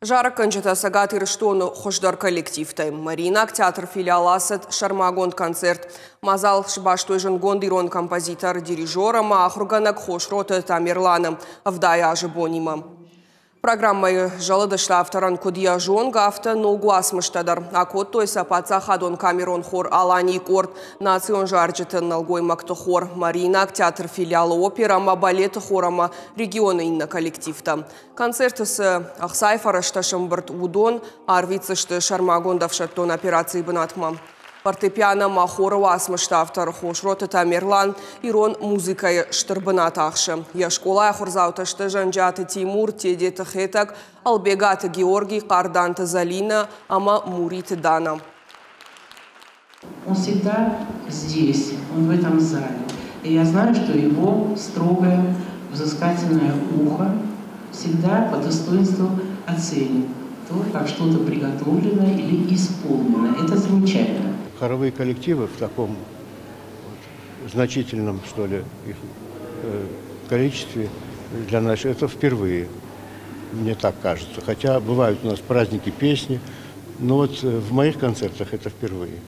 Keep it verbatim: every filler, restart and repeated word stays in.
Зарӕггӕнджытӕ Цӕгат Ирыстоны хуыздӕр коллективтӕй. Мариинаг театры филиал ацыд сӕрмагонд концерт. Мадзал сбастой зындгонд ирон композитор, дирижер ӕмӕ ахуыргӕнӕг Хосроты Тамерланы ӕвдай азы бонимӕ. Программӕйы зӕлыдысты авторӕн куыд йӕ зонгӕ, афтӕ ног уацмыстӕ дӕр. Акодтой сӕ паддзахадон камерон хор «Аланийы» къорд, национ зарджыты нӕлгоймӕгты хор, Мариинаг театры филиалы оперӕ ӕмӕ балеты хор ӕмӕ регионы иннӕ коллективтӕ. Концерты цы ӕхцайы фӕрӕзтӕ сӕмбырд, уыдон арвитдзысты сӕрмагонд ӕфсӕддон операцийы бынатмӕ. Фортепиано ӕмӕ хоры уацмысты автор Хосроты Тамерлан ирон музыкӕйы стыр бынат ахсы. Йӕ скъолайы ахуырдзаутӕ сты Зӕнджиаты Тимур, Тедеты Хетӕг, Ӕлбегаты Георгий, Хъарданты Залинӕ ӕмӕ Муриты Дана. Он всегда здесь, он в этом зале. И я знаю, что его строгое, взыскательное ухо всегда по достоинству оценит то, как что-то приготовлено или исполнено. Это замечательно. Хоровые коллективы в таком вот значительном, что ли, их э, количестве для нас это впервые, мне так кажется. Хотя бывают у нас праздники песни, но вот э, в моих концертах это впервые.